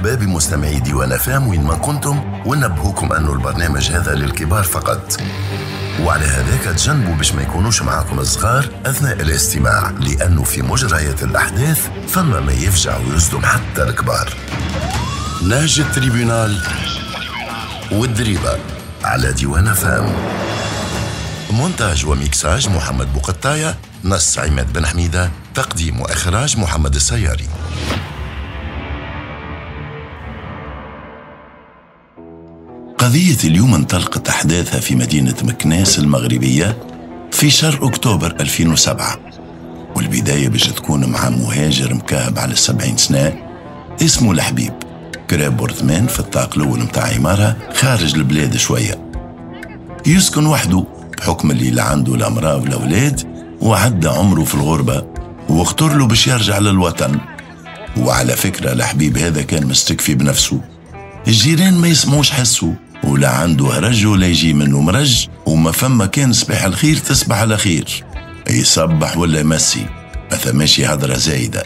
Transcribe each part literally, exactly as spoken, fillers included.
مرحبا بمستمعي ديوان أف أم وين ما كنتم، ونبهوكم أنه البرنامج هذا للكبار فقط، وعلى هذاك تجنبوا باش ما يكونوش معاكم الصغار أثناء الاستماع، لأنه في مجريات الأحداث فما ما يفجع ويصدم حتى الكبار. نهج ال tribunal والدريبة على ديوان أف أم. مونتاج وميكساج محمد بوقطاية، نص عماد بن حميدة، تقديم وإخراج محمد السياري. قضية اليوم انطلقت أحداثها في مدينة مكناس المغربية في شهر أكتوبر ألفين وسبعة، والبداية باش تكون مع مهاجر مكهب على السبعين سنة اسمه الحبيب، كرا appartement في الطاق الأول متاع عمارة خارج البلاد شوية. يسكن وحده بحكم اللي لا عنده لا امرأة ولا أولاد، وعدى عمره في الغربة واختار له باش يرجع للوطن. وعلى فكرة الحبيب هذا كان مستكفي بنفسه، الجيران ما يسمعوش حسه، ولا عنده هرج ولا يجي منه مرج، وما فما كان صباح الخير تصبح على خير، يصبح ولا يمسي، ما ثماش هضرة زايدة.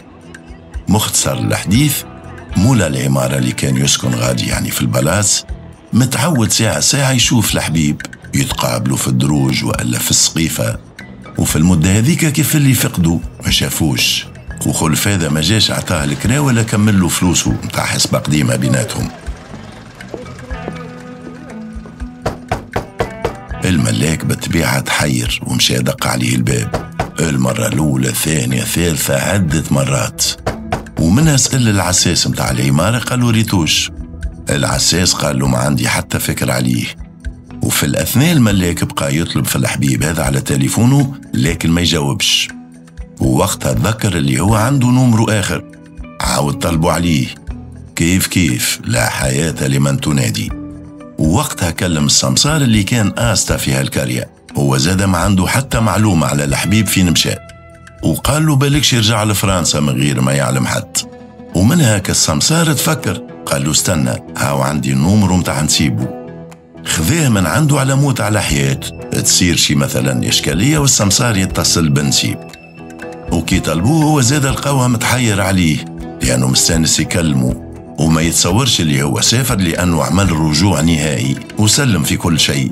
مختصر الحديث، مولا العمارة اللي كان يسكن غادي يعني في ال palace متعود ساعة ساعة يشوف الحبيب، يتقابلوا في الدروج وإلا في السقيفة، وفي المدة هذيك كيف اللي فقدوا ما شافوش، وخلف هذا ما جاش عطاه الكرا ولا كمل له فلوسه متاع حسبة قديمة بيناتهم. الملاك بالطبيعة تحير ومشى دق عليه الباب، المرة الأولى الثانية الثالثة عدة مرات، ومنها سأل العساس متاع العمارة قالوا ريتوش. العساس قال له ما عندي حتى فكر عليه. وفي الأثناء الملاك بقى يطلب في الحبيب هذا على تليفونه لكن ما يجاوبش، ووقتها تذكر اللي هو عنده نمرو آخر، عاود طلبوا عليه كيف كيف، لا حياة لمن تنادي. ووقتها كلم السمسار اللي كان آستا في هالكارية، هو زاد ما عنده حتى معلومة على الحبيب فين مشى، وقال له بالكش يرجع لفرنسا من غير ما يعلم حد. ومن هاك السمسار تفكر، قال له استنى هاو عندي النمرو متاع نسيبه، خذاه من عنده على موت على حياة تصير شي مثلا إشكالية والسمسار يتصل بنسيب. وكي طلبوه هو زاد لقاوها متحير عليه لأنه مستانس يكلمه وما يتصورش اللي هو سافر، لأنه عمل رجوع نهائي وسلم في كل شيء،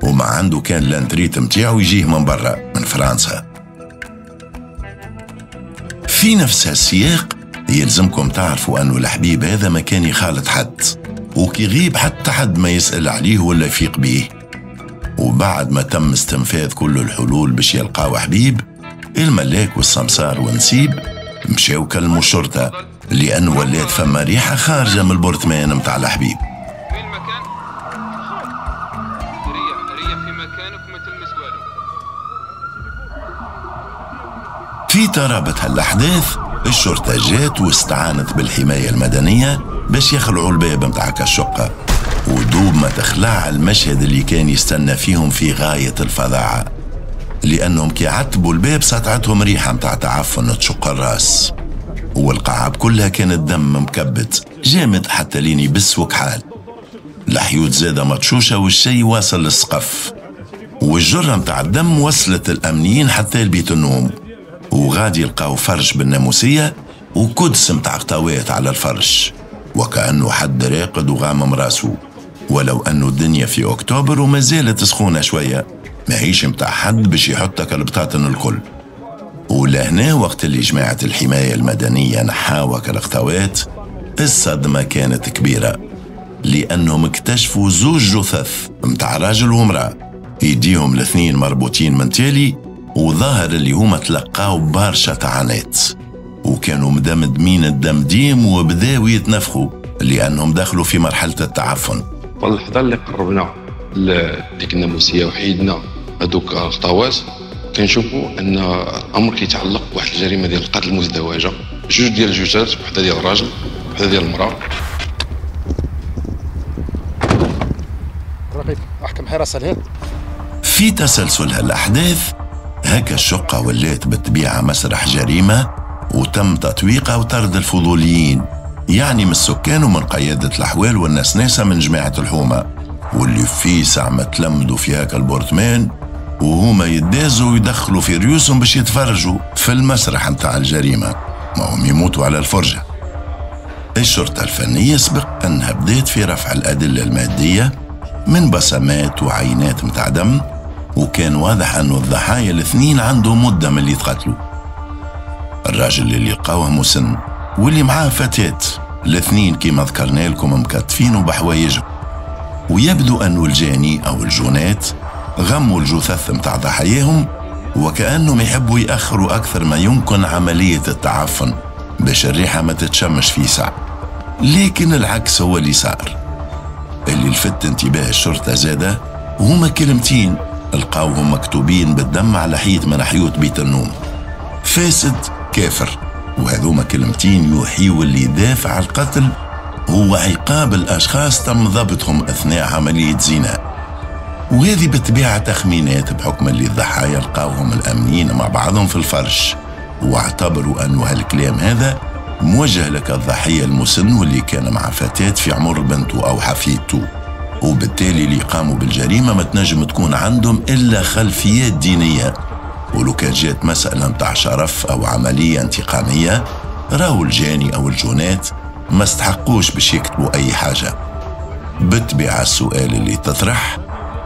وما عنده كان l'entrée متاعو يجيه من برا من فرنسا. في نفس السياق يلزمكم تعرفوا أنه الحبيب هذا ما كان يخالط حد، وكي غيب حتى حد ما يسأل عليه ولا يفيق بيه. وبعد ما تم استنفاذ كل الحلول باش يلقاو حبيب، الملاك والسمسار ونسيب مشاو كلموا الشرطة، لأنه ولات فما ريحة خارجة من ال appartement متاع الحبيب. في ترابط هالأحداث الشرطة جات واستعانت بالحماية المدنية باش يخلعوا الباب متاع الشقة، ودوب ما تخلع المشهد اللي كان يستنى فيهم في غاية الفظاعة، لأنهم كي عتبوا الباب سطعتهم ريحة متاع تعفن تشق الراس، والقاعة كلها كانت دم مكبت جامد حتى لين يبس وكحال، الحيوت زادة مطشوشة والشي واصل للسقف، والجرة متاع الدم وصلت الأمنيين حتى لبيت النوم، وغادي يلقاو فرش بالناموسية وكدس متاع غطاوات على الفرش، وكأنه حد راقد وغامم راسه، ولو أنه الدنيا في أكتوبر وما زالت سخونة شوية، ماهيش متاع حد باش يحطك البطاطن الكل. ولهنا وقت اللي جماعة الحماية المدنية نحاوك الغطاوات، الصدمة كانت كبيرة، لأنهم اكتشفوا زوج جثث متاع راجل ومرأة، ايديهم الاثنين مربوطين من تالي، وظاهر اللي هما تلقاو برشا طعنات، وكانوا مدمدمين الدمديم وبداو يتنفخوا لأنهم دخلوا في مرحلة التعفن. واللحظة اللي قربنا لديك الناموسية وحيدنا هذوك الغطاوات، كنشوفوا ان الامر كيتعلق بواحد الجريمة ديال القتل المزدوجة، جوج ديال الجثث، وحده ديال الراجل وحده ديال المراة. رقيب احكم حراسة لهنا. في تسلسل هالاحداث هكا الشقة ولات بالطبيعة مسرح جريمة، وتم تطويقها وطرد الفضوليين، يعني من السكان ومن قيادة الاحوال والناس ناسا من جماعة الحومه، واللي في ساعة ما تلمدوا في هاكا ال appartement وهما يدازوا ويدخلوا في ريوسهم باش يتفرجوا في المسرح متاع الجريمة، ما هم يموتوا على الفرجة. الشرطة الفنية سبق أنها بدأت في رفع الأدلة المادية من بصمات وعينات متاع دم، وكان واضح أنه الضحايا الاثنين عندهم مدة من اللي تقتلوا. الراجل اللي لقاوه مسن واللي معاه فتاة، الاثنين كما ذكرنا لكم مكتفين وبحوايجهم، ويبدو أنه الجاني أو الجونات غموا الجثث متاع ضحاياهم وكأنهم يحبوا يأخروا أكثر ما يمكن عملية التعفن باش الريحة ما تتشمش في ساعة. لكن العكس هو اللي صار. اللي لفت انتباه الشرطة زادة هما كلمتين لقاوهم مكتوبين بالدم على حيط من حيوط بيت النوم: فاسد كافر. وهذوما كلمتين يوحيوا اللي دافع القتل هو عقاب الأشخاص تم ضبطهم أثناء عملية زنا. وهذه بالطبيعة تخمينات بحكم اللي الضحايا لقاوهم الأمنيين مع بعضهم في الفرش، واعتبروا أنه هالكلام هذا موجه لك الضحية المسن واللي كان مع فتاة في عمر بنته أو حفيدته، وبالتالي اللي قاموا بالجريمة ما تنجم تكون عندهم إلا خلفيات دينية. ولو كان جات مسألة متاع شرف أو عملية انتقامية راهو الجاني أو الجونات ما استحقوش باش يكتبوا أي حاجة. بالطبيعة السؤال اللي تطرح: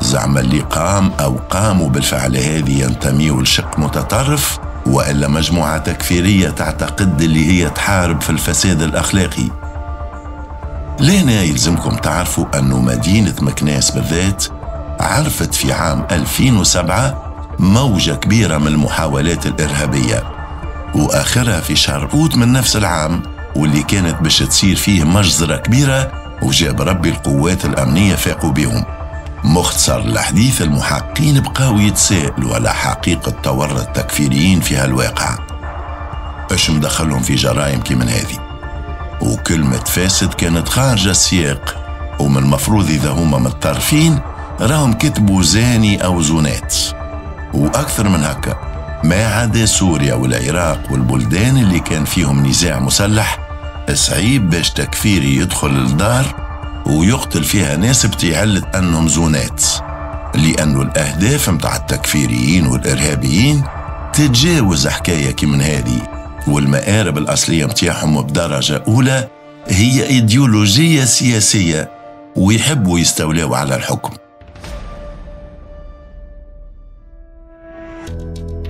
زعما اللي قام أو قاموا بالفعل هذه ينتميوا لشق متطرف وإلا مجموعة تكفيرية تعتقد اللي هي تحارب في الفساد الأخلاقي؟ لهنا يلزمكم تعرفوا أنه مدينة مكناس بالذات عرفت في عام ألفين وسبعة موجة كبيرة من المحاولات الإرهابية، وآخرها في شهر أوت من نفس العام واللي كانت باش تصير فيه مجزرة كبيرة، وجاب ربي القوات الأمنية فاقوا بهم. مختصر الحديث، المحققين بقاو يتساءلوا على حقيقة تورط التكفيريين في هالواقع، اش مدخلهم في جرائم كي من هذه؟ وكلمة فاسد كانت خارجة السياق، ومن المفروض إذا هما متطرفين راهم كتبوا زاني أو زونات. وأكثر من هكا، ما عدا سوريا والعراق والبلدان اللي كان فيهم نزاع مسلح، صعيب باش تكفيري يدخل الدار ويقتل فيها ناس بتعلة أنهم زونات، لأنه الأهداف متاع التكفيريين والإرهابيين تتجاوز حكاية كي من هذه، والمآرب الأصلية متاعهم بدرجة أولى هي إيديولوجية سياسية ويحبوا يستولاو على الحكم.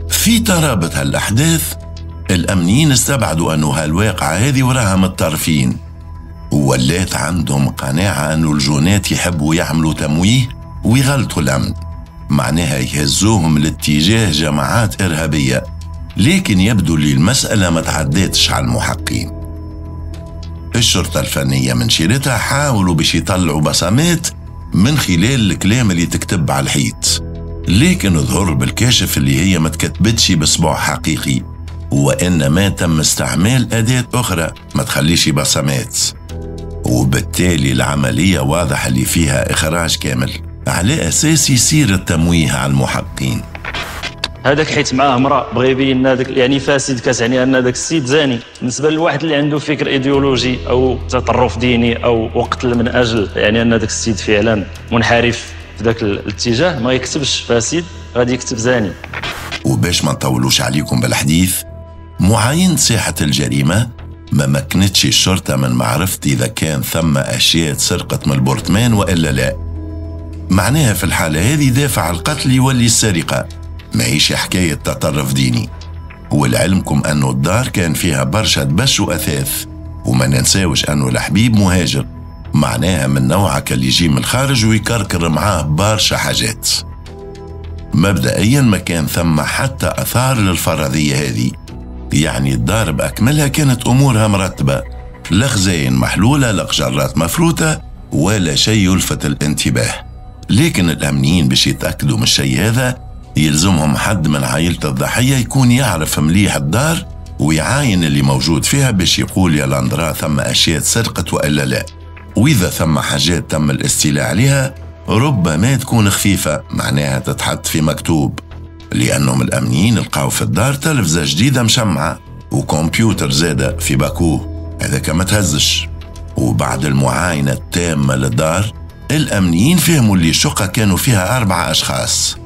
في ترابط هالأحداث الأمنيين استبعدوا أنه هالواقعة هذه وراها متطرفين، وولات عندهم قناعة أنه الجونات يحبوا يعملوا تمويه ويغلطوا الأمن، معناها يهزوهم لاتجاه جماعات إرهابية. لكن يبدو لي المسألة ما تعدتش على المحقين. الشرطة الفنية من شيرتها حاولوا باش يطلعوا بصمات من خلال الكلام اللي تكتب على الحيط، لكن ظهر بالكاشف اللي هي ما تكتبتش بصبع حقيقي، وإنما تم استعمال أداة أخرى ما تخليش بصمات، وبالتالي العملية واضح اللي فيها إخراج كامل على أساس يصير التمويه على المحقين. هذاك حيت معاه امراة بغى يبين هذاك يعني فاسد، كتعني ان هذاك السيد زاني. بالنسبة للواحد اللي عنده فكر ايديولوجي او تطرف ديني او وقتل من اجل يعني ان هذاك السيد فعلا منحرف في ذاك الاتجاه، ما يكتبش فاسد، غادي يكتب زاني. وباش ما نطولوش عليكم بالحديث، معاينة ساحة الجريمة ما مكنتش الشرطة من معرفة إذا كان ثم أشياء سرقت من البرطمان وإلا لا. معناها في الحالة هذه دافع القتل يولي السرقة، ماهيش حكاية تطرف ديني. ولعلمكم أنه الدار كان فيها برشا دبش وأثاث، وما ننساوش أنه الحبيب مهاجر، معناها من نوعك اللي يجي من الخارج ويكركر معاه برشا حاجات. مبدئيا ما كان ثم حتى أثار للفرضية هذه، يعني الدار بأكملها كانت أمورها مرتبة، لا خزاين محلولة، لا قجرات مفروتة، ولا شيء يلفت الانتباه. لكن الأمنيين باش يتأكدوا من الشيء هذا يلزمهم حد من عائلة الضحية يكون يعرف مليح الدار ويعاين اللي موجود فيها باش يقول يا لاندرا ثم أشياء سرقت وإلا لا، وإذا ثم حاجات تم الاستيلاء عليها ربما تكون خفيفة، معناها تتحط في مكتوب، لأنهم الأمنيين لقاو في الدار تلفزة جديدة مشمعة وكمبيوتر زادة في باكوه، هذاك ما تهزش. وبعد المعاينة التامة للدار الأمنيين فهموا اللي الشقة كانوا فيها أربعة أشخاص،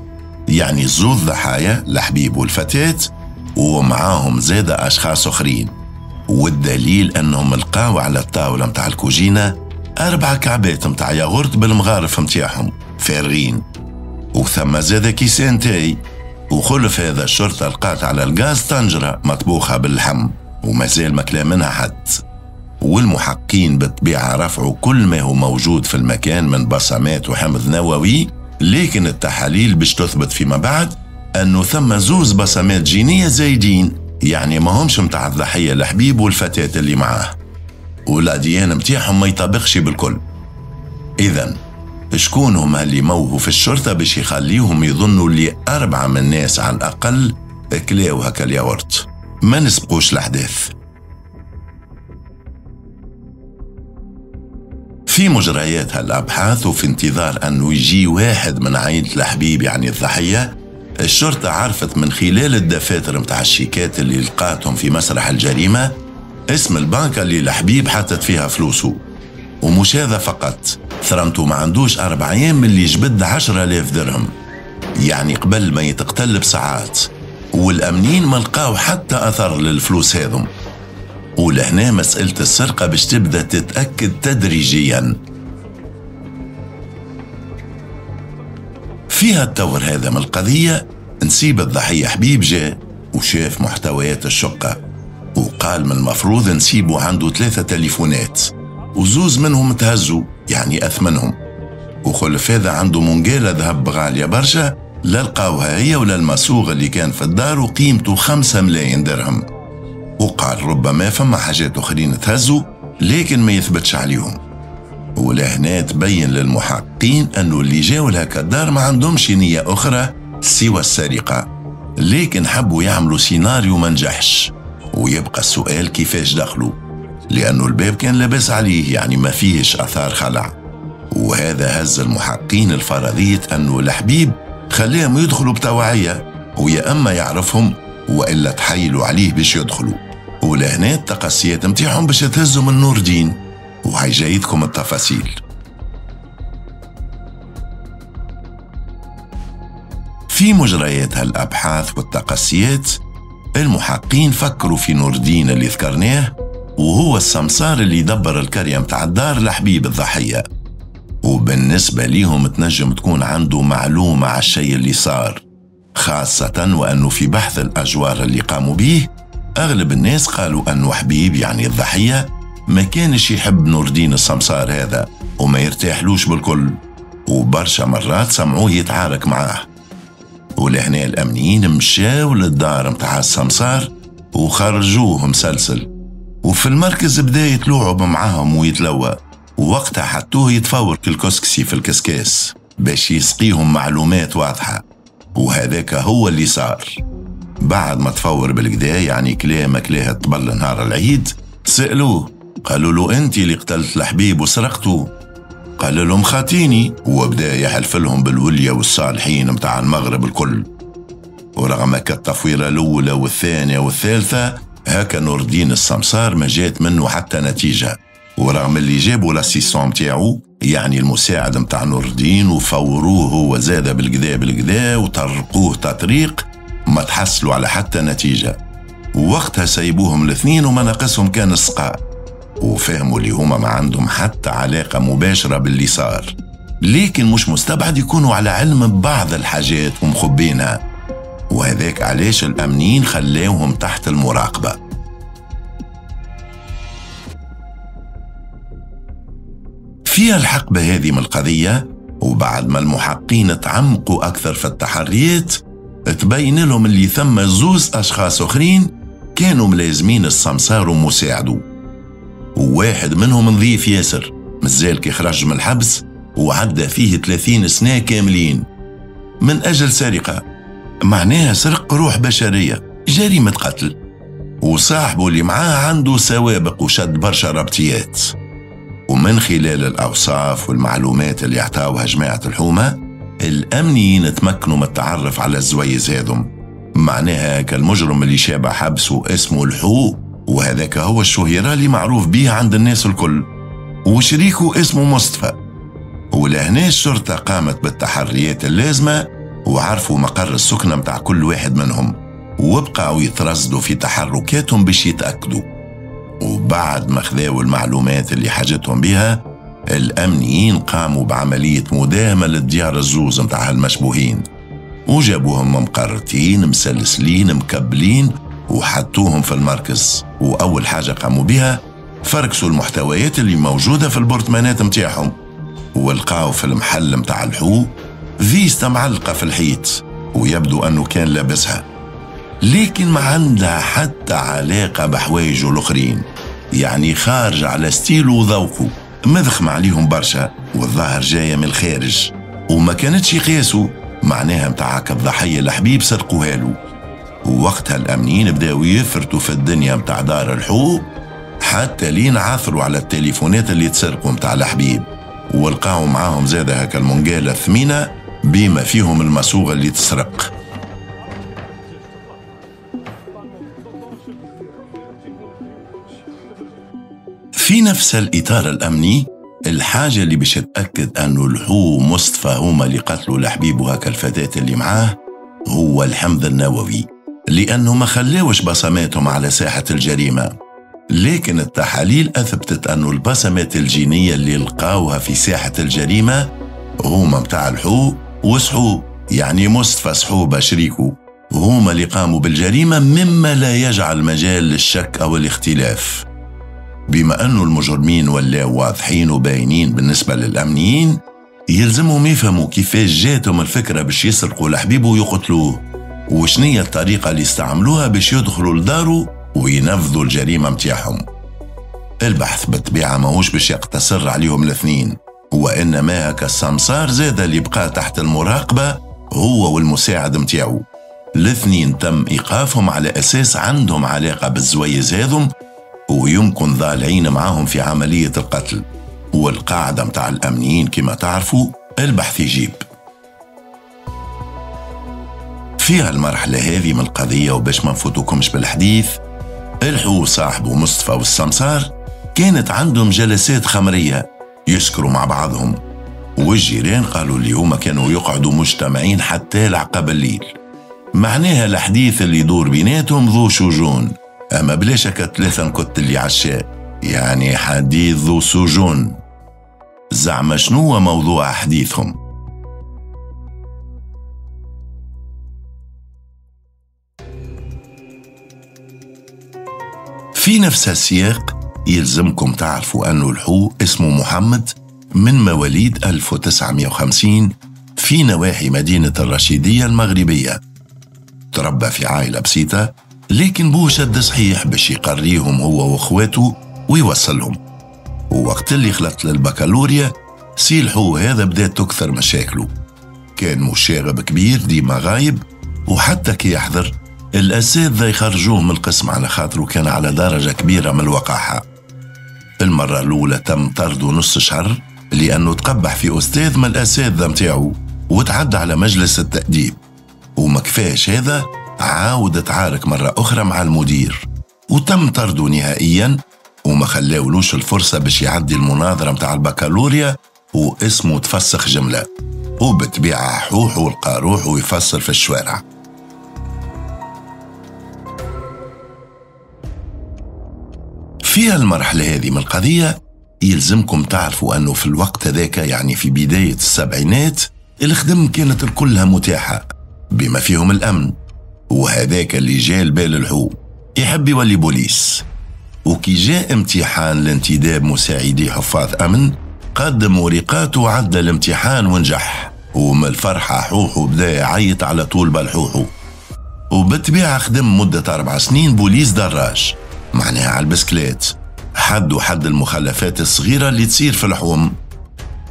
يعني زوج ضحايا الحبيب والفتاة ومعاهم زادة أشخاص أخرين، والدليل أنهم لقاو على الطاولة متاع الكوجينة أربع كعبات متاع ياغورت بالمغارف متاعهم فارغين، وثم زاد كيسان تاي. وخلف هذا الشرطة لقات على الغاز طنجرة مطبوخة باللحم ومازال ما كلا منها حد. والمحقين بالطبيعة رفعوا كل ما هو موجود في المكان من بصمات وحمض نووي، لكن التحاليل باش تثبت فيما بعد أنه ثم زوز بصمات جينية زايدين، يعني ما همش متاع الضحية الحبيب والفتاة اللي معاه، والأديان متاعهم ما يطابقش بالكل. إذن شكون هما اللي موهوا في الشرطة باش يخليهم يظنوا اللي أربعة من الناس على الأقل كلاو هكا الياغورت؟ ما نسبقوش الأحداث. في مجريات هالأبحاث وفي انتظار أنه يجي واحد من عائلة الحبيب يعني الضحية، الشرطة عرفت من خلال الدفاتر متاع الشيكات اللي لقاتهم في مسرح الجريمة اسم البنكة اللي الحبيب حطت فيها فلوسه. ومش هذا فقط، ثرمته ما عندوش أربع أيام من اللي جبد عشرة آلاف درهم، يعني قبل ما يتقتل بساعات، والأمنيين ما لقاو حتى أثر للفلوس هذم. ولهنا مسألة السرقة باش تبدأ تتأكد تدريجيا. فيها التور هذا من القضية نسيب الضحية حبيب جاء وشاف محتويات الشقة وقال من المفروض نسيبه عنده ثلاثة تليفونات وزوز منهم تهزوا يعني أثمنهم، وخلف هذا عنده منقالة ذهب غالية برشا لا لقاوها هي ولا المصوغ اللي كان في الدار وقيمته خمسة ملايين درهم. وقال ربما فما حاجات أخرين تهزوا لكن ما يثبتش عليهم. ولهنا تبين للمحققين أنه اللي جاوا لهكا الدار ما عندهمش نية أخرى سوى السرقة، لكن حبوا يعملوا سيناريو ما نجحش. ويبقى السؤال كيفاش دخلوا، لأنه الباب كان لاباس عليه يعني ما فيهش أثار خلع. وهذا هز المحققين الفرضية أنه الحبيب خليهم يدخلوا بتوعية، ويا أما يعرفهم وإلا تحايلوا عليه باش يدخلوا. ولهنا التقصيات متاعهم باش تهزوا من نور دين، وهي جايتكم التفاصيل. في مجريات هالأبحاث والتقصيات المحققين فكروا في نور الدين اللي ذكرناه، وهو السمسار اللي دبر الكرية متاع الدار لحبيب الضحية. وبالنسبة ليهم تنجم تكون عنده معلومة على الشيء اللي صار، خاصة وأنه في بحث الأجوار اللي قاموا بيه أغلب الناس قالوا أنه حبيب يعني الضحية ما كانش يحب نور الدين السمسار هذا وما يرتاحلوش بالكل، وبرشا مرات سمعوه يتعارك معاه. ولهنا الأمنيين مشاو للدار متاع السمسار وخرجوه مسلسل، وفي المركز بدا يتلوعب معاهم ويتلوى، ووقتها حطوه يتفور الكسكسي في الكسكاس باش يسقيهم معلومات واضحة. وهذاك هو اللي صار. بعد ما تفور بالكدا يعني كلاه كلاه الطبل نهار العيد، سألوه قالوا له أنت اللي قتلت الحبيب وسرقته؟ قال لهم خاتيني، وبدا يحلف لهم بالولية والصالحين متاع المغرب الكل. ورغم التفويرة الأولى والثانية والثالثة هكا نور الدين السمسار ما جات منه حتى نتيجة، ورغم اللي جابوا l'assistant متاعو يعني المساعد متاع نور الدين وفوروه هو زاد بالكدا بالكدا وطرقوه تطريق ما تحصلوا على حتى نتيجة. ووقتها سيبوهم الاثنين وما ناقصهم كان السقاء، وفهموا اللي هما ما عندهم حتى علاقة مباشرة باللي صار، لكن مش مستبعد يكونوا على علم ببعض الحاجات ومخبينها، وهذاك علاش الأمنيين خلاوهم تحت المراقبة. في الحقبة هذه من القضية وبعد ما المحققين تعمقوا أكثر في التحريات تبين لهم اللي ثم زوز أشخاص أخرين كانوا ملازمين السمسار ومساعده، وواحد منهم نظيف ياسر مازال كي خرج من الحبس وعدى فيه ثلاثين سنة كاملين من أجل سرقة، معناها سرق روح بشرية، جريمة قتل. وصاحبه اللي معاه عنده سوابق وشد برشا ربطيات. ومن خلال الأوصاف والمعلومات اللي عطاوها جماعة الحومة الأمنيين تمكنوا من التعرف على الزويز هذم، معناها كالمجرم اللي شابع حبسه اسمه الحو، وهذاك هو الشهيرة اللي معروف بيه عند الناس الكل، وشريكه اسمه مصطفى. ولهنا الشرطة قامت بالتحريات اللازمة وعرفوا مقر السكنة متاع كل واحد منهم، وبقعوا يترصدوا في تحركاتهم باش يتأكدوا. وبعد ما خذاو المعلومات اللي حاجتهم بها، الأمنيين قاموا بعملية مداهمة للديار الزوز متاع المشبوهين، وجابوهم مقرتين مسلسلين مكبلين وحطوهم في المركز. وأول حاجة قاموا بها فركسوا المحتويات اللي موجودة في البرطمانات متاعهم، ولقاو في المحل متاع الحو فيستا معلقة في الحيط ويبدو أنه كان لابسها، لكن ما عندها حتى علاقة بحوايجه الآخرين، يعني خارج على ستيله وذوقه، مذخم عليهم برشا والظاهر جاية من الخارج وما كانتش يقيسوا، معناها متاعك الضحية الحبيب سرقوها له. ووقتها الأمنيين بداوا يفرتوا في الدنيا متاع دار الحو حتى لين عثروا على التليفونات اللي تسرقوا متاع الحبيب، ولقاو معاهم زادة هكا المنقالة الثمينة بما فيهم المصوغة اللي تسرق. في نفس الإطار الأمني، الحاجة اللي باش تأكد أنه الحو مصطفى هما اللي قتلوا الحبيب وهكا الفتاة اللي معاه هو الحمض النووي، لأنه ما خلاوش بصماتهم على ساحة الجريمة، لكن التحاليل أثبتت أنه البصمات الجينية اللي لقاوها في ساحة الجريمة هما متاع الحو وصحو، يعني مصطفى صحوبة شريكه، هما اللي قاموا بالجريمة، مما لا يجعل مجال للشك أو الاختلاف. بما أنه المجرمين ولاو واضحين وباينين بالنسبة للأمنيين، يلزمهم يفهموا كيفاش جاتهم الفكرة باش يسرقوا الحبيب ويقتلوه، وشنية الطريقة اللي استعملوها باش يدخلوا لداره وينفذوا الجريمة متاعهم. البحث بالطبيعة ماهوش باش يقتصر عليهم الاثنين، وإنما هكا السمسار زاد اللي بقى تحت المراقبة هو والمساعد متاعو. الاثنين تم إيقافهم على أساس عندهم علاقة بالزويز هذم ويمكن ضالعين معاهم في عملية القتل. والقاعدة متاع الأمنيين كما تعرفوا البحث يجيب. في هالمرحلة هذه من القضية، وباش ما نفوتوكمش بالحديث، الحو صاحبه مصطفى والسمسار كانت عندهم جلسات خمرية يسكروا مع بعضهم، والجيران قالوا اللي هما كانوا يقعدوا مجتمعين حتى العقب الليل، معناها الحديث اللي يدور بيناتهم ذو شجون، أما بلا شك ثلاثة نكت اللي عشاء، يعني حديث ذو سجون. زعما شنو موضوع حديثهم؟ في نفس السياق يلزمكم تعرفوا أنه الحو اسمه محمد من مواليد ألف وتسعمائة وخمسين في نواحي مدينة الرشيدية المغربية. تربى في عائلة بسيطة، لكن بوه شد صحيح باش يقريهم هو واخواته ويوصلهم. ووقت اللي خلط للبكالوريا سي الحو هذا بدات تكثر مشاكله، كان مشاغب كبير ديما غايب، وحتى كي يحضر الأساتذة يخرجوه من القسم على خاطره كان على درجة كبيرة من الوقاحة. المرة الأولى تم طرده نص شهر لأنه تقبح في أستاذ من الأساتذة متاعه وتعدى على مجلس التأديب، وما كفاش هذا عاود تعارك مرة أخرى مع المدير وتم طرده نهائيا، وما خلاولوش الفرصة باش يعدي المناظرة متاع البكالوريا واسمه تفسخ جملة، وبتبيع حوح والقاروح ويفصل في الشوارع. في المرحلة هذه من القضية يلزمكم تعرفوا أنه في الوقت هذاك، يعني في بداية السبعينات، الخدم كانت كلها متاحة بما فيهم الأمن، وهذاك اللي جاء البال الحو يحب يولي بوليس. وكي جاء امتحان لانتداب مساعدي حفاظ أمن قدم ورقاته وعدى الامتحان ونجح، ومن الفرحة حوحو بدا يعيط على طول بالحوحو. وبالطبيعة خدم مدة أربع سنين بوليس دراج، معناها على البسكليت، حد وحد المخالفات الصغيرة اللي تصير في الحوم.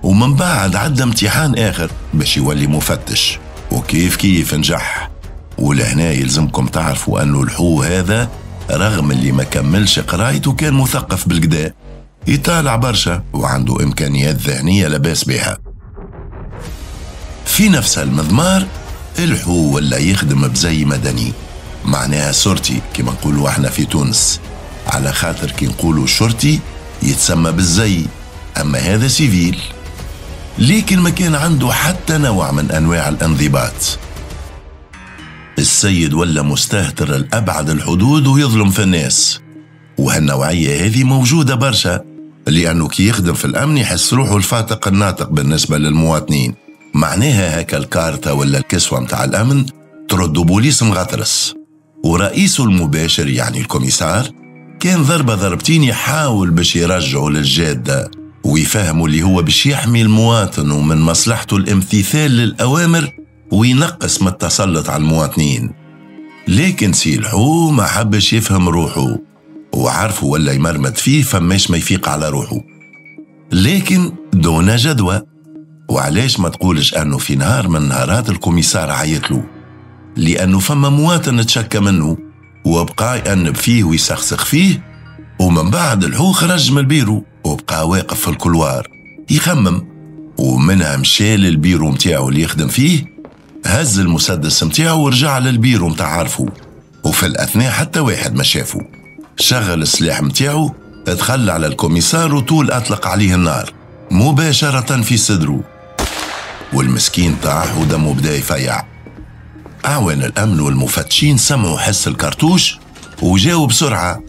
ومن بعد عدى امتحان آخر باش يولي مفتش، وكيف كيف نجح. ولهنا يلزمكم تعرفوا أنه الحو هذا رغم اللي ما كملش قرايته كان مثقف بالقدا، يطالع برشا وعنده إمكانيات ذهنية لباس بها. في نفس المضمار الحو ولا يخدم بزي مدني، معناها شرطي كما نقولوا احنا في تونس، على خاطر كي نقولوا شرطي يتسمى بالزي، أما هذا civil. لكن ما كان عنده حتى نوع من أنواع الانضباط. السيد ولا مستهتر لأبعد الحدود ويظلم في الناس، وهالنوعية هذه موجودة برشا، لأنه كي يخدم في الأمن يحس روحه الفاتق الناطق بالنسبة للمواطنين. معناها هكا الكارتة ولا الكسوة متاع الأمن ترد بوليس مغطرس. ورئيسه المباشر يعني ال commissaire كان ضربة ضربتين يحاول باش يرجعه للجادة ويفهموا اللي هو باش يحمي المواطن ومن مصلحته الامتثال للأوامر وينقص من التسلط على المواطنين. لكن سي الحو ما حبش يفهم روحه، وعرفه ولا يمرمد فيه فماش ما يفيق على روحه، لكن دون جدوى. وعلاش ما تقولش أنه في نهار من نهارات ال commissaire عيطله لأنه فما مواطن تشكى منه وبقى يأنب فيه ويسخسخ فيه، ومن بعد الحو خرج من البيرو وبقى واقف في ال couloir يخمم، ومنها مشى للبيرو متاعه اللي يخدم فيه، هز المسدس متاعه ورجع للبيرو متاع عارفه. وفي الأثناء حتى واحد ما شافه، شغل السلاح متاعه، دخل على ال commissaire وطول أطلق عليه النار مباشرة في صدره، والمسكين طاح ودمه بدا يفيع. أعوان الأمن والمفتشين سمعوا حس الكرتوش وجاوا بسرعة،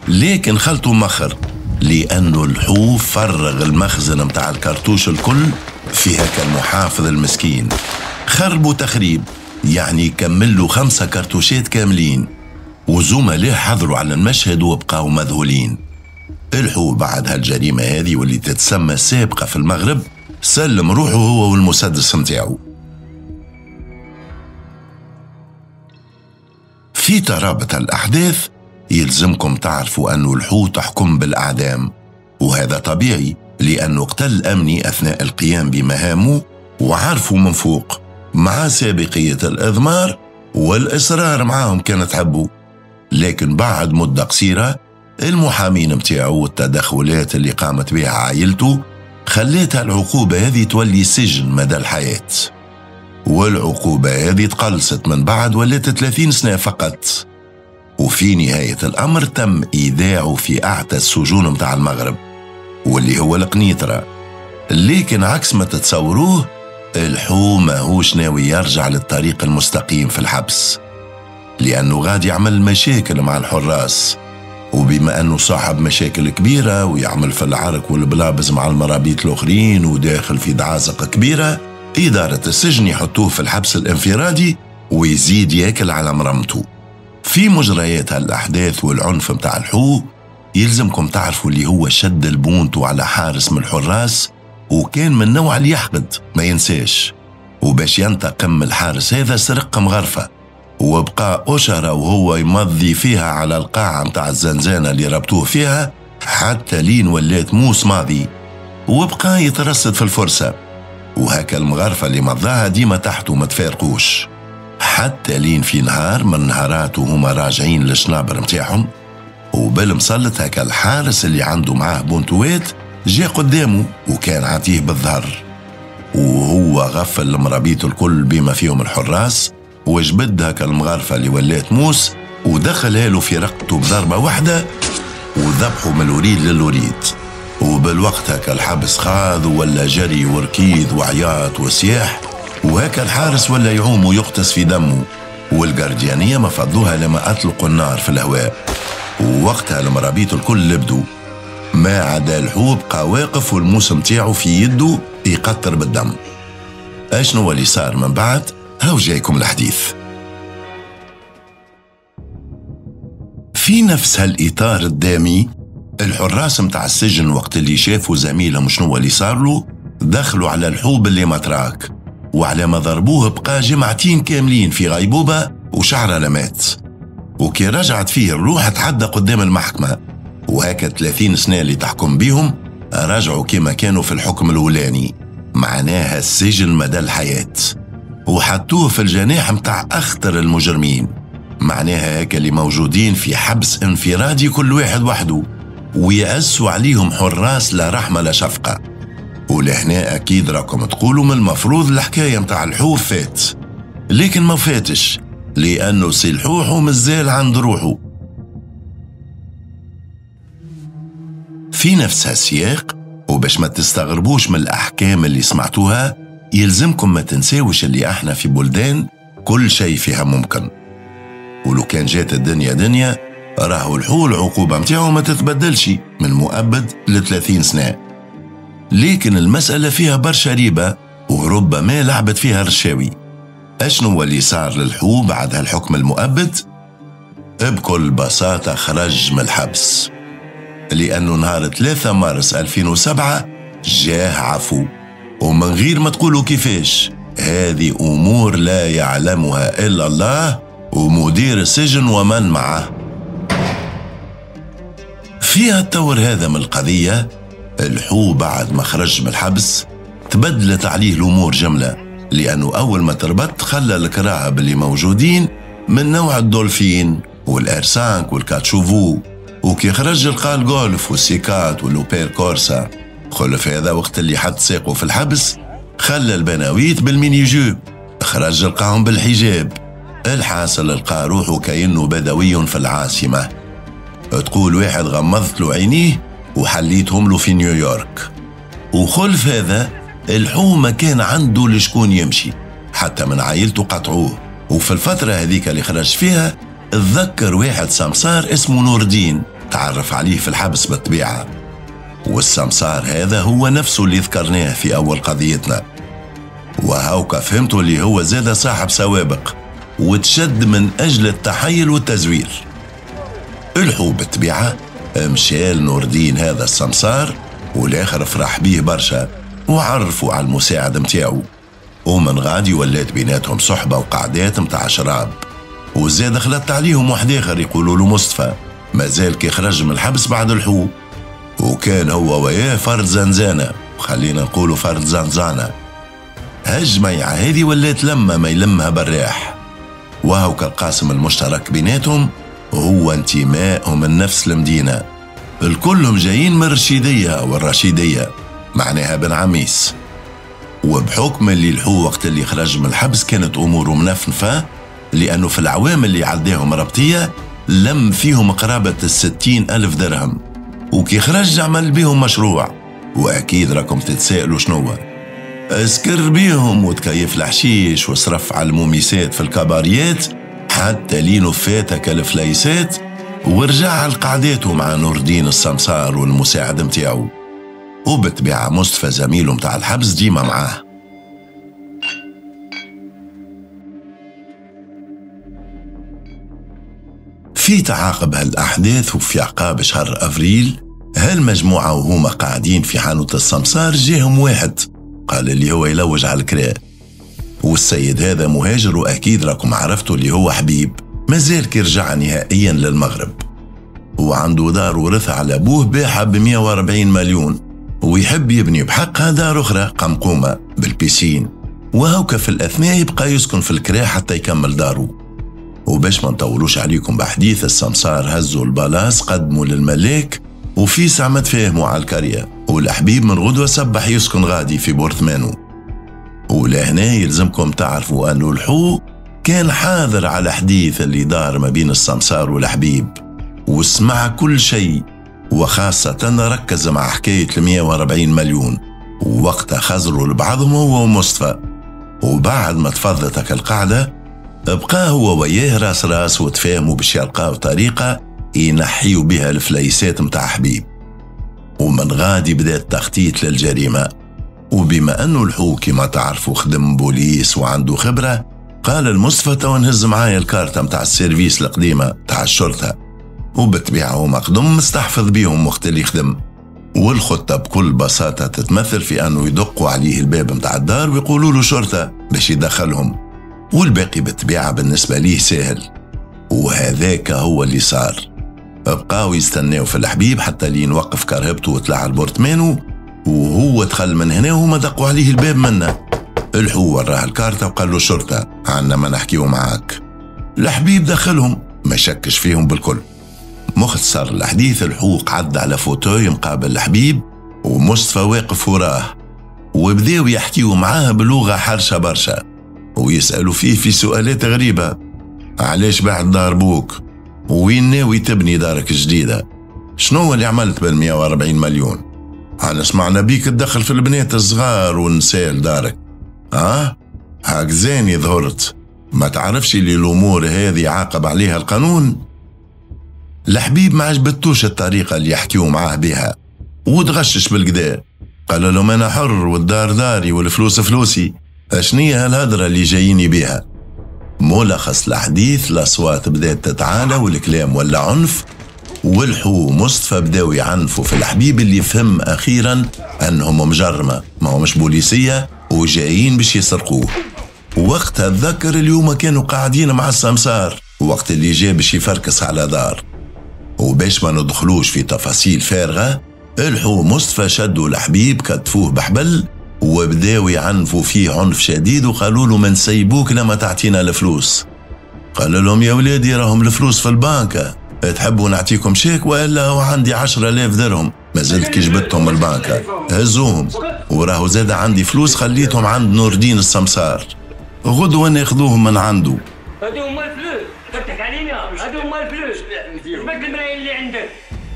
لكن خلطوا مخر لأنه الحوف فرغ المخزن متاع الكرتوش الكل في هكا المحافظ المسكين. خربوا تخريب، يعني كملوا خمسة كرتوشات كاملين، وزملاه حضروا على المشهد وبقاوا مذهولين. الحو بعد هالجريمة هذه واللي تتسمى سابقة في المغرب سلم روحه هو والمسدس متاعه. في ترابط الأحداث يلزمكم تعرفوا أنه الحوت حكم بالأعدام، وهذا طبيعي لأنه قتل أمني أثناء القيام بمهامه وعرفوا من فوق، مع سابقية الإضمار والإصرار معاهم كانت تحبوا. لكن بعد مدة قصيرة المحامين متاعه والتدخلات اللي قامت بها عائلته خلتها العقوبة هذه تولي سجن مدى الحياة، والعقوبة هذه تقلصت من بعد ولات ثلاثين سنة فقط. وفي نهاية الأمر تم إيداعه في أعتى السجون متاع المغرب واللي هو القنيطرة. لكن عكس ما تتصوروه، الحو ماهوش ناوي يرجع للطريق المستقيم في الحبس، لأنه غادي يعمل مشاكل مع الحراس، وبما أنه صاحب مشاكل كبيرة ويعمل في العرك والبلابز مع المرابيط الآخرين وداخل في دعازق كبيرة، إدارة السجن يحطوه في الحبس الانفرادي ويزيد ياكل على مرمته. في مجريات هالأحداث والعنف متاع الحو يلزمكم تعرفوا اللي هو شد البونتو على حارس من الحراس، وكان من نوع اللي يحقد ما ينساش، وباش ينتقم من الحارس هذا سرق مغرفة وبقى أشرة وهو يمضي فيها على القاعة متاع الزنزانة اللي ربطوه فيها حتى لين ولات موس ماضي، وبقى يترصد في الفرصة، وهكا المغرفة اللي مضاها ديما تحته ما تفارقوش، حتى لين في نهار من نهارات وهما راجعين للشنابر متاعهم، وبالمسلط هكا الحارس اللي عنده معاه بونتوات جا قدامه وكان عاطيه بالظهر، وهو غفل المرابيط الكل بما فيهم الحراس، وجبد هكا المغرفة اللي ولات موس ودخلها له في رقبته بضربة واحدة وذبحه من الوريد للوريد. وبالوقت هكا الحبس خاض ولا جري وركيد وعياط وسياح، وهكا الحارس ولا يعوم ويغطس في دمه، والجارديانية ما فضوها لما أطلقوا النار في الهواء، ووقتها المرابيط الكل لبدوا ما عدا الحو بقى واقف والموس متاعه في يده يقطر بالدم. اشنو اللي صار من بعد؟ هاو جايكم الحديث. في نفس هالإطار الدامي الحراس متاع السجن وقت اللي شافوا زميلهم شنو اللي صار له دخلوا على الحوب اللي متراك، وعلى ما ضربوه بقى جمعتين كاملين في غيبوبة وشعره لمات، وكي رجعت فيه الروح تحدى قدام المحكمة، وهكا ثلاثين سنة اللي تحكم بيهم رجعوا كما كانوا في الحكم الأولاني، معناها السجن مدى الحياة، وحطوه في الجناح متاع أخطر المجرمين، معناها هكا اللي موجودين في حبس انفرادي كل واحد وحده، ويأسوا عليهم حراس لا رحمة لا شفقة. ولهنا أكيد راكم تقولوا من المفروض الحكاية متاع الحوف فات، لكن ما فاتش، لأنه سي الحوح مازال عند روحه. في نفس هالسياق، وباش ما تستغربوش من الأحكام اللي سمعتوها، يلزمكم ما تنساوش اللي احنا في بلدان كل شيء فيها ممكن، ولو كان جات الدنيا دنيا راهو الحو العقوبة متاعه ما تتبدلش من مؤبد لثلاثين سنة. لكن المسألة فيها برشا ريبة وربما لعبت فيها الرشاوي. أشنو اللي صار للحو بعد هالحكم المؤبد؟ بكل بساطة خرج من الحبس، لأنه نهار ثلاثة مارس ألفين وسبعة جاه عفو، ومن غير ما تقولوا كيفاش. هذه أمور لا يعلمها إلا الله ومدير السجن ومن معه. فيها التور هذا من القضية، الحو بعد ما خرج من الحبس تبدلت عليه الأمور جملة، لأنه أول ما تربط خلى الكراهب اللي موجودين من نوع الدولفين والإرسانك والكاتشوفو، وكي خرج لقى الجولف والسيكات والأوبير كورسا. خلف هذا وقت اللي حط ساقه في الحبس خلى البناويت بال mini-jupe، خرج لقاهم بالحجاب. الحاصل لقى روحه كأنه بدوي في العاصمة، تقول واحد غمضت له عينيه وحليتهم له في نيويورك. وخلف هذا الحومة كان عنده لشكون يمشي، حتى من عائلته قطعوه. وفي الفترة هذيك اللي خرج فيها اتذكر واحد سمسار اسمه نور الدين، تعرف عليه في الحبس بالطبيعة، والسمسار هذا هو نفسه اللي ذكرناه في أول قضيتنا. وهوكا فهمته اللي هو زاد صاحب سوابق وتشد من أجل التحيل والتزوير. الحو بالطبيعة مشى لنور الدين هذا السمسار، والآخر فرح بيه برشا وعرفوا على المساعد متاعو، ومن غادي ولات بيناتهم صحبة وقعدات متاع شراب. وزاد خلطت عليهم واحد آخر يقولوا له مصطفى، مازال كي خرج من الحبس بعد الحو، وكان هو وياه فرد زنزانة، خلينا نقولوا فرد زنزانة. هالجميعة هذه ولات لما ما يلمها براح، وهو كالقاسم المشترك بيناتهم هو انتمائهم من نفس المدينة، الكلهم جايين من الرشيدية والرشيدية معناها بن عميس. وبحكم اللي الحو وقت اللي خرج من الحبس كانت أموره منفنفة، لأنه في العوام اللي عداهم ربطية لم فيهم قرابة الستين ألف درهم، وكي خرج عمل بيهم مشروع. وأكيد راكم تتسائلوا شنو اسكر بيهم وتكيف الحشيش وصرف على الموميسات في الكباريات حتى لينو فاتك الفليسات، ورجع على قعداته مع نور الدين السمسار والمساعد متاعو. وبالطبيعة مصطفى زميله متاع الحبس ديما معاه. في تعاقب هالأحداث وفي عقاب شهر أفريل، هالمجموعة وهما قاعدين في حانوت السمسار جاهم واحد قال اللي هو يلوج على الكراء، والسيد هذا مهاجر وأكيد راكم عرفتوا اللي هو حبيب، مازال كي رجع نهائيا للمغرب، وعنده دار ورثها على أبوه باعها ب مئة وأربعين مليون، ويحب يبني بحقها دار أخرى قمقومة بال piscine، وهوكا في الأثناء يبقى يسكن في الكراء حتى يكمل داره. وباش ما نطولوش عليكم بحديث، السمسار هزوا البلاص قدموا للملاك، وفي ساعة ما تفاهموا على الكرية، والحبيب من غدوة سبح يسكن غادي في بورتمانو. ولهنا يلزمكم تعرفوا أنه الحو كان حاضر على حديث اللي دار ما بين السمسار والحبيب، وسمع كل شيء، وخاصة ركز مع حكاية المئة وأربعين مليون، ووقتها خزروا لبعضهم هو ومصطفى. وبعد ما تفضتك القعدة بقى هو وياه راس راس، وتفاهموا باش يلقاو طريقة ينحيوا بها الفليسات متاع حبيب. ومن غادي بدا التخطيط للجريمة. وبما أنه الحو كما تعرفوا خدم بوليس وعنده خبرة، قال المصطفى تو نهز معايا الكارتة متاع ال service القديمة تاع الشرطة، وبالطبيعة هما قدم مستحفظ بيهم وقت اللي خدم. والخطة بكل بساطة تتمثل في أنه يدقوا عليه الباب متاع الدار ويقولوا له شرطة باش يدخلهم، والباقي بالطبيعة بالنسبة ليه سهل. وهذاك هو اللي صار، بقاو يستناو في الحبيب حتى لين وقف كرهبته وطلع البورتمانو، وهو دخل من هنا وهما دقوا عليه الباب منا. الحو وراه الكارتة وقال له شرطة عنا ما نحكيو معاك. الحبيب دخلهم ما شكش فيهم بالكل. مختصر الحديث، الحو قعد على fauteuil مقابل الحبيب ومصطفى واقف وراه، وبداو يحكيو معاه بلغة حرشة برشا، ويسألوا فيه في سؤالات غريبة. علاش بعد دار بوك؟ وين ناوي تبني دارك الجديدة؟ شنو اللي عملت بالمئة وأربعين مليون؟ أنا سمعنا بيك تدخل في البنات الصغار والنساء لدارك، ها؟ هاك زاني ظهرت، ما تعرفش اللي الأمور هذه عاقب عليها القانون؟ الحبيب ما عجبتوش الطريقة اللي يحكيو معاه بها وتغشش بالقدا، قال لهم أنا حر والدار داري والفلوس فلوسي، أشنية هالهدرة اللي جاييني بها؟ ملخص الحديث الأصوات بدأت تتعالى والكلام ولا عنف، والحو مصطفى بداو يعنفوا في الحبيب اللي فهم أخيرا أنهم مجرمة ما همش بوليسية وجايين باش يسرقوه. وقتها تذكر اليوم كانوا قاعدين مع السمسار وقت اللي جا باش يفركس على دار. وباش ما ندخلوش في تفاصيل فارغة، الحو مصطفى شدوا الحبيب كتفوه بحبل وبداو يعنفوا فيه عنف شديد وقالوا له ما نسيبوك لما تعطينا الفلوس. قال لهم يا ولادي راهم الفلوس في البنكة، تحبوا نعطيكم شيك والا هو عندي عشرة آلاف درهم ما زلت كي جبتهم من البنكة هزوهم، وراهو زاد عندي فلوس خليتهم عند نور الدين السمسار، غدوة ناخذوهم من عنده. هادو هما الفلوس كتضحك علينا، هادو هما الفلوس جبت الملايين اللي عندك.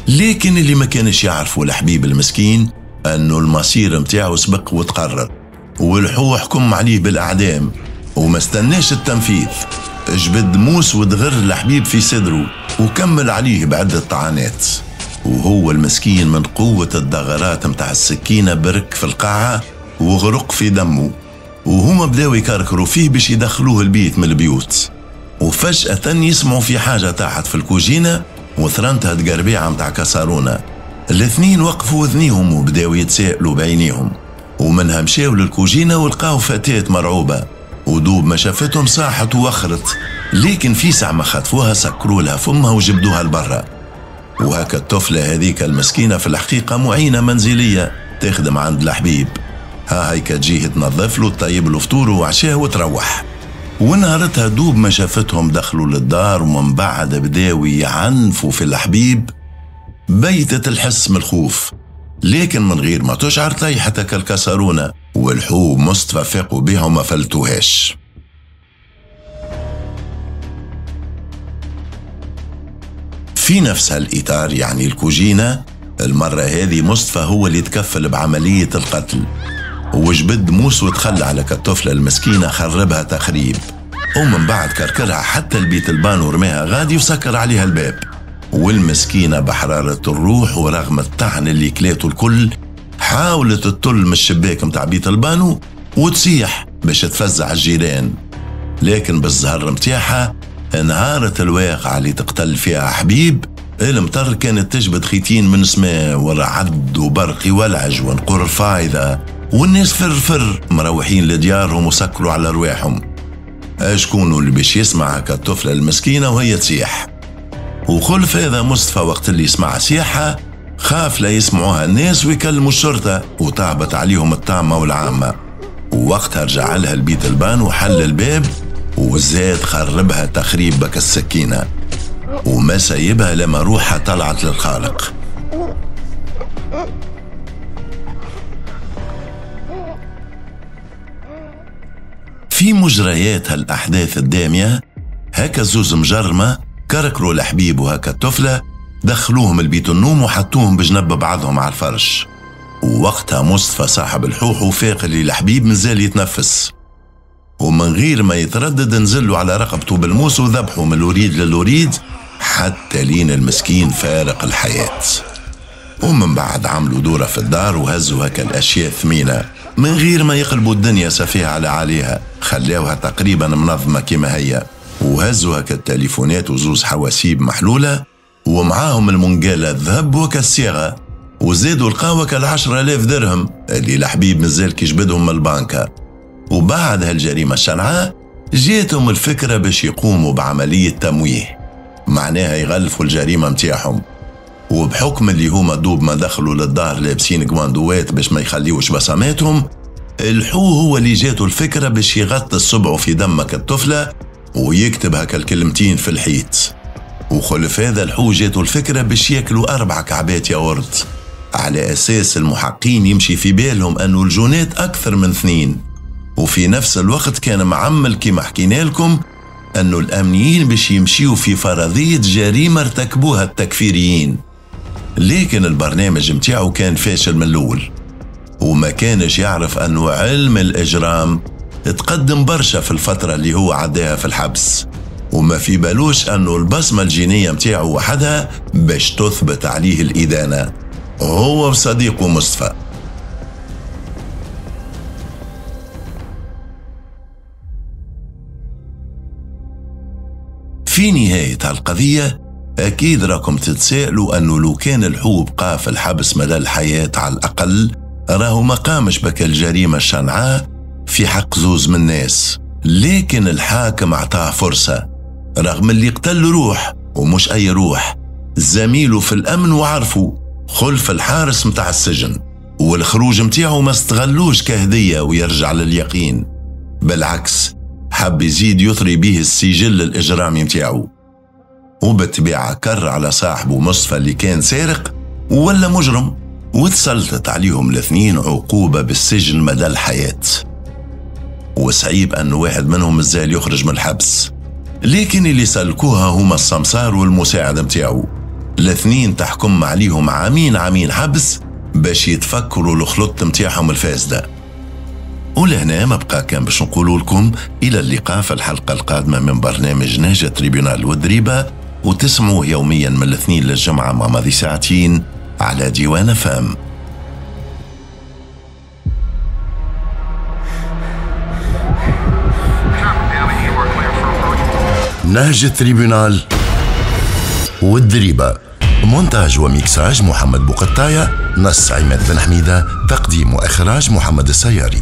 لكن اللي ما كانش يعرفوا الحبيب المسكين انه المصير متاعه سبق وتقرر، والحو حكم عليه بالاعدام وما استناش التنفيذ، جبد موس ودغر الحبيب في صدره وكمل عليه بعدة طعنات، وهو المسكين من قوة الدغرات متاع السكينة برك في القاعة وغرق في دمه، وهما بداو يكركروا فيه باش يدخلوه البيت من البيوت. وفجأة يسمعوا في حاجة تحت في الكوجينة وثرنتها تقربيعة متاع كسارونة. الاثنين وقفوا وذنيهم وبداو يتسائلوا بعينيهم، ومنها مشاو للكوجينة ولقاو فتاة مرعوبة، ودوب ما شافتهم صاحت ووخرت، لكن في ساعة ما خطفوها سكروا لها فمها وجبدوها لبرا. وهكا الطفلة هذيك المسكينة في الحقيقة معينة منزلية تخدم عند الحبيب، ها هيك تجيه تنظف له تطيب له فطوره وعشاه وتروح. ونهارتها دوب ما شافتهم دخلوا للدار ومن بعد بداو يعنفوا في الحبيب، بيتت الحس من الخوف، لكن من غير ما تشعر طيحتك الكسرونة، والحوب مصطفى فاقوا بها وما فلتوهاش. في نفس هالإطار يعني الكوجينة، المرة هذه مصطفى هو اللي تكفل بعملية القتل، وجبد موس وتخلى على كالطفلة المسكينة خربها تخريب، ومن بعد كركرها حتى البيت البان ورماها غادي وسكر عليها الباب. والمسكينة بحرارة الروح ورغم الطعن اللي كلاته الكل حاولت تطل من الشباك متاع بيت البانو وتصيح باش تفزع الجيران، لكن بالزهر متاعها انهارت الواقعة اللي تقتل فيها حبيب. المطر كانت تجبد خيتين من سماء ورعد وبرق ولعج ونقر فايضة، والناس فر فر مروحين لديارهم وسكروا على رواحهم. اشكونوا اللي باش يسمع كالطفلة المسكينة وهي تصيح؟ وخلف هذا مصطفى وقت اللي سمع صياحها خاف لا يسمعوها الناس ويكلموا الشرطة وتعبت عليهم الطامة والعامة. ووقتها رجع لها البيت البان وحل الباب وزاد خربها تخريب بك السكينة، وما سايبها لما روحها طلعت للخالق. في مجريات هالأحداث الدامية هكا زوز مجرمة كركروا الحبيب وهكا الطفلة، دخلوهم البيت النوم وحطوهم بجنب بعضهم على الفرش. ووقتها مصطفى صاحب الحوح وفاق اللي الحبيب مازال يتنفس، ومن غير ما يتردد نزلوا على رقبته بالموس وذبحوا من الوريد للوريد حتى لين المسكين فارق الحياة. ومن بعد عملوا دورة في الدار وهزوا هكا الأشياء الثمينة من غير ما يقلبوا الدنيا سفيها على عليها، خلاوها تقريبا منظمة كما هي، وهزوا هكا التليفونات وزوز حواسيب محلولة ومعاهم المنقالة الذهب وكالصيغة، وزادوا لقاوة كالعشرة آلاف درهم اللي الحبيب مازال كيجبدهم من البنكة. وبعد هالجريمة الشنعاء جاتهم الفكرة باش يقوموا بعملية تمويه، معناها يغلفوا الجريمة متاعهم. وبحكم اللي هما دوب ما دخلوا للدار لابسين كواندوات باش ما يخليوش بصماتهم، الحو هو اللي جاته الفكرة باش يغطي صبعه في دمك الطفلة ويكتب هكا الكلمتين في الحيط. وخلف هذا الحو جاته الفكرة باش ياكلوا أربع كعبات ياورت، على أساس المحقين يمشي في بالهم أنه الجونات أكثر من اثنين. وفي نفس الوقت كان معمل كما حكينا لكم أنه الأمنيين باش يمشيوا في فرضية جريمة ارتكبوها التكفيريين، لكن البرنامج متاعه كان فاشل من الأول، وما كانش يعرف أنه علم الإجرام تقدم برشا في الفترة اللي هو عداها في الحبس، وما في بالوش أنه البصمة الجينية متاعه وحدها باش تثبت عليه الإدانة، هو وصديقه مصطفى. في نهاية هالقضية أكيد راكم تتساءلوا أنه لو كان الحو بقى في الحبس مدى الحياة على الأقل راهو ما قامش بك الجريمة الشنعاء في حق زوز من الناس، لكن الحاكم أعطاه فرصة رغم اللي قتل روح، ومش أي روح، زميله في الأمن وعرفه خلف الحارس متاع السجن، والخروج متاعه ما استغلوش كهدية ويرجع لليقين، بالعكس حب يزيد يثري به السجل الإجرامي متاعه. وبالطبيعة كر على صاحبه مصطفى اللي كان سارق ولا مجرم، وتسلطت عليهم الاثنين عقوبة بالسجن مدى الحياة، وصعيب أن واحد منهم مازال يخرج من الحبس. لكن اللي سلكوها هما السمسار والمساعد متاعه، الاثنين تحكم عليهم عامين عامين حبس باش يتفكروا الخلط متاعهم الفاسدة. ولهنا ما بقى كان باش نقولوا لكم إلى اللقاء في الحلقة القادمة من برنامج نهج tribunal والدريبة، وتسمعوه يوميا من الاثنين للجمعة مع ماضي ساعتين على ديوان فام. نهج tribunal والدريبة، مونتاج وميكساج محمد بوقطاية، نص عماد بن حميدة، تقديم وإخراج محمد السياري.